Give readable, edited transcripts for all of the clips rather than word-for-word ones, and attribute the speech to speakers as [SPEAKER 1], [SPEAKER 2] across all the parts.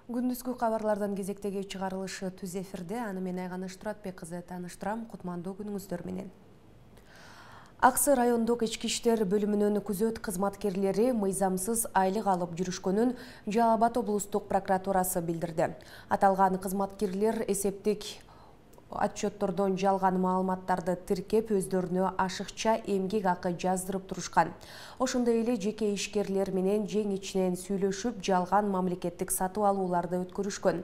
[SPEAKER 1] Күндүзгү кабарлардан кезектеги чыгарылышы түз эфирде. Аны мен Айганыш Туратбек кызы тааныштырам. Кутмандуу күнүңүздөр менен. Аксы райондук ички иштер бөлүмүнүн күзөт кызматкерлери мыйзамсыз айлык алып жүрүшкөнүн Жалал Абад облустук прокуратурасы билдирди. Аталган кызматкерлер эсептик отчеттордон жалган маалыматтарды тиркеп, өздөрүнө ашыкча эмгек акы жаздырып турушкан. Ошондой эле жеке ишкерлер менен жең ичинен сүйлөшүп, жалган мамлекеттик сатып алууларды өткөрүшкөн.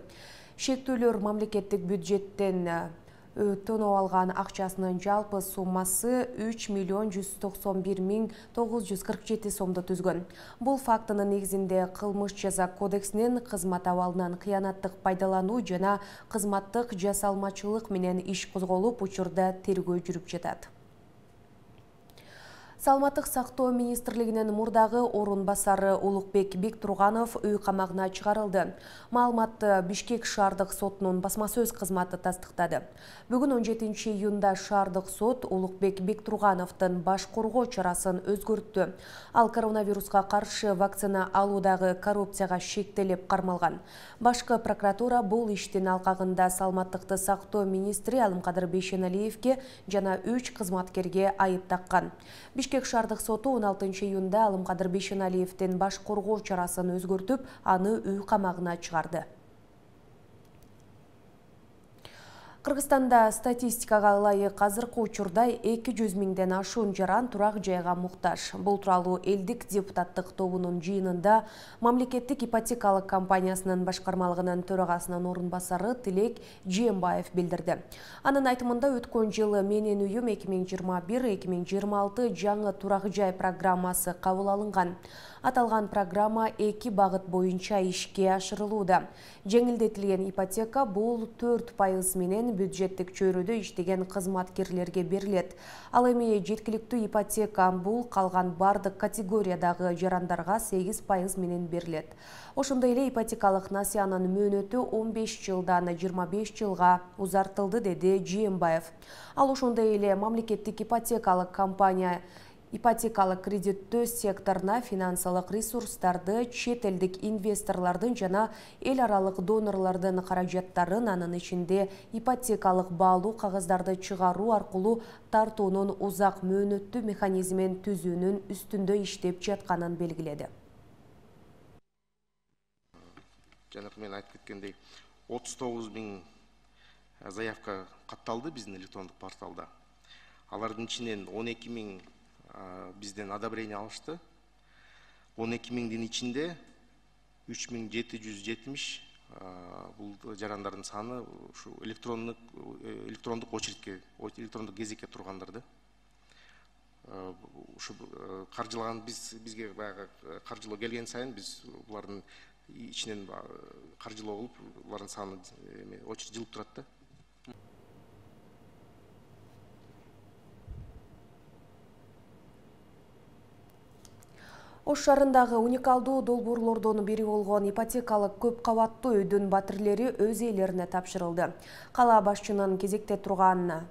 [SPEAKER 1] Шектүүлөр мамлекеттик бюджеттен өтөнүп алган акчасынын жалпы суммасы 3.191.947 сомду түзгөн. Бул фактынын негизинде Кылмыш жаза кодексинин кызмат абалынан кыянаттык пайдалануу жана кызматтык жасалмачылык менен иш козголуп, учурда тергөө жүрүп жатат. Саламаттык сактоо министрлигинин мурдагы орун басары Улукбек Бектурганов үй камагына чыгарылды. Маалыматты Бишкек шаардык сотунун басма сөз кызматы тастыктады. Бүгүн 17 июнда шаардык сот Улукбек Бектургановдун баш коргоо чарасын өзгөрттү. Ал коронавируска каршы вакцина алуудагы коррупцияга шектелип кармалган. Башкы прокуратура бул иштин алкагында саламаттыкты сактоо министри Алымкадыр Бейшеналиевге жана 3 кызматкерге айып таккан. Бишкек шаардык соту 16 июнда Алымкадыр Бейшеналиевдин баш коргоо чарасын өзгөртүп, аны үй камагына чыгарды. Кыргызстанда статистикага ылайык азыркы учурда 200 миңден ашуун жаран турак жайга муктаж. Бул тууралуу элдик депутаттык тобунун жыйынында мамлекеттик ипотекалык компаниясынын башкармалыгынын төрагасынын орун басары Тилек Жээнбаев билдирди. Анын айтымында өткөн жылы Менин үйүм 2021-2026 жаңы турак жай программасы кабыл алынган. Аталган программа 2 багыт боюнча ишке ашырылууда. Жеңилдетилген ипотека бул 4% менен бюджеттик чөйрөдө иштеген кызматкерлерге берилет. Ал эми жеткиликтүү ипотека бул калган бардык категориядагы жарандарга 8% менен берилет. Ошондой эле ипотекалык насыянын мөөнөтү 15 жылдан 25 жылга узартылды, деди Жээнбаев. Ал ошондой эле мамлекеттик ипотекалык компания ипотекалык кредиттөө секторуна финансылык ресурстарды чет элдик инвесторлордун жана эл аралык донорлордун каражаттарын, анын ичинде ипотекалык баалуу кагаздарды чыгаруу аркылуу тартуунун узак мөөнөттүү механизмин түзүүнүн үстүндө иштеп жатканын белгиледи.
[SPEAKER 2] Жанагы мен айтып кеткендей 39 миң заявка катталды биздин электрондук порталда. Алардын ичинен 12 миң бизден одобрение алышты. 12 миңдин ичинде 3770 бул жарандардын саны ушу электрондук очередке, электрондук кезекке тургандарды. Ушу каржылаган бизге баягы каржылоо келген сайын биз булардын ичинен каржылоо кылып, булардын саны очередь жылып турат да.
[SPEAKER 1] Ош шаарындагы уникалдуу долбоорлордон бири болгон ипотекалык көп кабаттуу үйдүн батирлери өз ээлерине тапшырылды. Каланын кезекте турган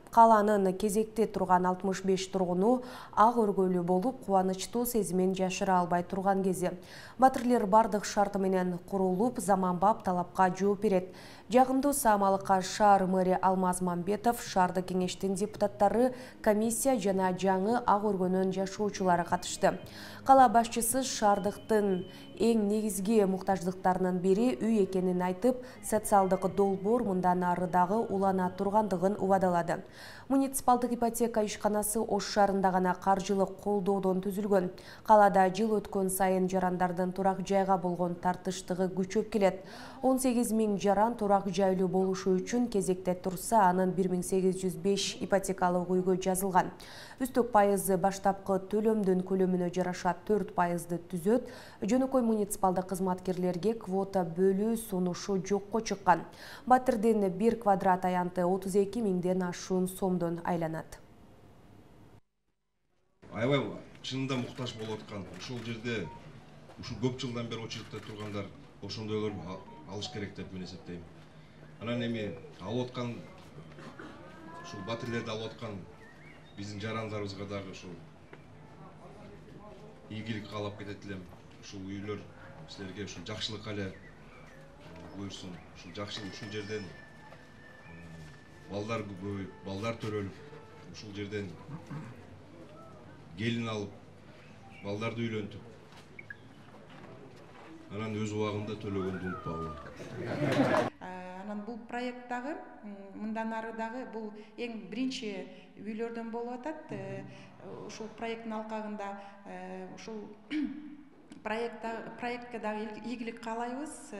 [SPEAKER 1] 65 тургуну ак өргөлүү болуп, кубанычтуу сезимин жашыра албай турган кези. Батирлер бардык шарты менен курулуп, заманбап талапка жооп берет. Жагымдуу саамалыкка шаар мэри Алмаз Мамбетов, шаардык кеңештин депутаттары, комиссия жана жаңы ак өргөнүн жашоочулары катышты. Кала башчысы шаардыктын эң негизги муктаждыктарынын бири үй экенин айтып, социалдык долбоор мындан ары дагы улана тургандыгын убадалады. Муниципалдык ипотека ишканасы Ош шаарында гана каржылык колдоодон түзүлгөн. Калада жыл өткөн сайын жарандардын турак жайга болгон тартыштыгы күчөп келет. 18 миң жаран турак жайлуу болушу үчүн кезекте турса, анын 1805 ипотекалык үйгө жазылган. Үстөк пайызы баштапкы төлөмдүн көлөмүнө жараша 4%ды түзөт. Жөнөкөй муниципалдык кызматкерлерге квота бөлүү сунушу жокко чыккан. Батирдин 1 квадрат аянты 32 миңден ашуун сомдон айланат.
[SPEAKER 3] Аябай чынында муктаж болуп аткан ушул жерде ушу көп жылдан бери очередте тургандар ошондойлор алыш керек деп мен эсептейм. Анан эми алып аткан ушул батирлерди алып аткан биздин жарандарыбызга дагы ушул ийгилик каалап кетет элем. Ушул үйлөр силерге ушул жакшылыкка эле буюрсун. Ушул жакшы ушул жерден балдар көбөйүп, балдар төрөлүп, ушул жерден келин алып, балдарды үйлөнтүп, анан өз убагында төлөгөндү унутпагыла.
[SPEAKER 4] Анан бул проект дагы мындан ары дагы бул эң биринчи үйлөрдөн болуп атат. Ушул проекттин алкагында ушул проектке дагы ийгилик каалайбыз.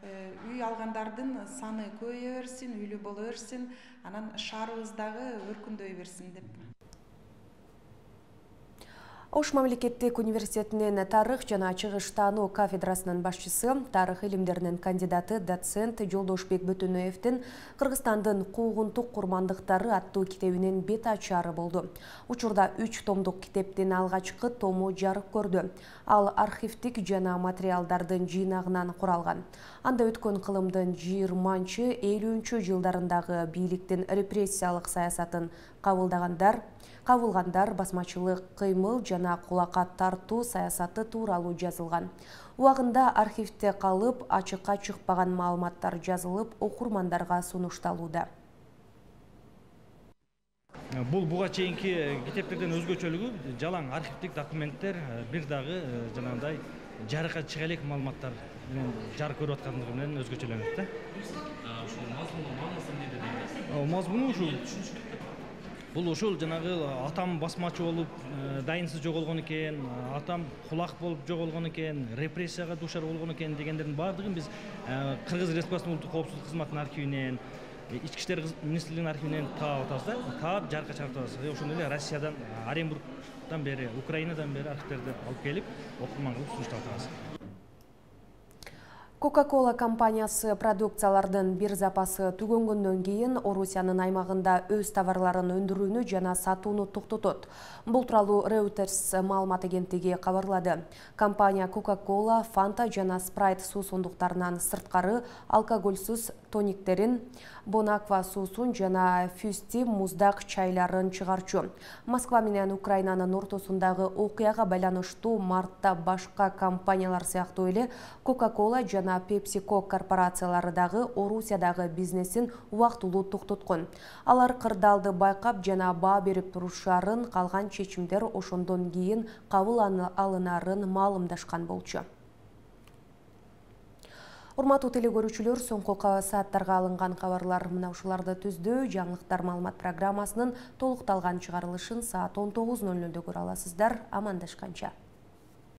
[SPEAKER 4] Үй алгандардын саны көбөйө берсин, үйлүү боло берсин, анан шаарыбыз дагы өркүндөй берсин деп.
[SPEAKER 1] Ош мамлекеттик университетинин тарых жана чыгыш таануу кафедрасынын башчысы, тарых илимдеринин кандидаты доцент Жолдошбек Бөтөнөевдин Кыргызстандын куугунтук курмандыктары аттуу китебинин бет ачары болду. Учурда 3 томдук китептин алгачкы тому жарык көрдү. Ал архивдик жана материалдардын жыйнагынан куралган. Анда өткөн кылымдын 20-50 жылдарындагы бийликтин репрессиялык саясатын кабылгандар басмачылык кыймыл жана кулакка тартуу саясаты тууралуу жазылган. Убагында архивде калып, ачыкка чыкпаган маалыматтар жазылып, окурмандарга сунушталууда.
[SPEAKER 5] Бул буга чейинки китептерден өзгөчөлүгү жалаң архивдик документтер, бир дагы жанагындай жарыкка чыга элек маалыматтар менен жарык көрүп аткандыгы менен өзгөчөлөнөт да.
[SPEAKER 6] Ушул мазмуну маанысы эмнеде дейсиз?
[SPEAKER 5] Мазмуну ушул. Бул ушул жанагы атам басмачы болуп дайынсыз жоголгон экен, атам кулак болуп жоголгон экен, репрессияга дуушар болгон экен дегендердин баардыгын биз Кыргыз Республикасынын улуттук коопсуздук кызматынын архивинен, Ички иштер министрлигинин архивинен таап атабыз да. Таап жарыкка чыгарып атабыз. Ошондой эле Россиядан, Оренбургдан бери, Украинадан бери архивдерди алып келип, окурманга сунуштап атабыз.
[SPEAKER 1] Coca-Cola компаниясы продукциялардын бир запасы түгөнгөндөн кийин Орусиянын аймагында өз товарларын өндүрүүнү жана сатууну токтотот. Бул тууралуу Reuters маалымат агенттиги кабарлады. Компания Coca-Cola, Fanta жана Sprite суусундуктарынан сырткары алкогольсуз тониктерин, Bonaqua суусун жана Fusti муздак чайларын чыгарчу. Москва менен Украинанын ортосундагы окуяга байланыштуу мартта башка компаниялар сыяктуу эле Coca-Cola жана PepsiCo корпорациялары дагы Орусиядагы бизнесин убактылуу токтоткон. Алар кырдаалды байкап жана баа берип турушарын, калган чечимдер ошондон кийин кабыл алынарын маалымдашкан болчу. Урматтуу телекөрүүчүлөр, соңку сааттарга алынган кабарлар мына ушуларды түздү. Жаңылыктар маалымат программасынын толукталган чыгарылышын саат 19:00 көрө аласыздар. Амандашканча.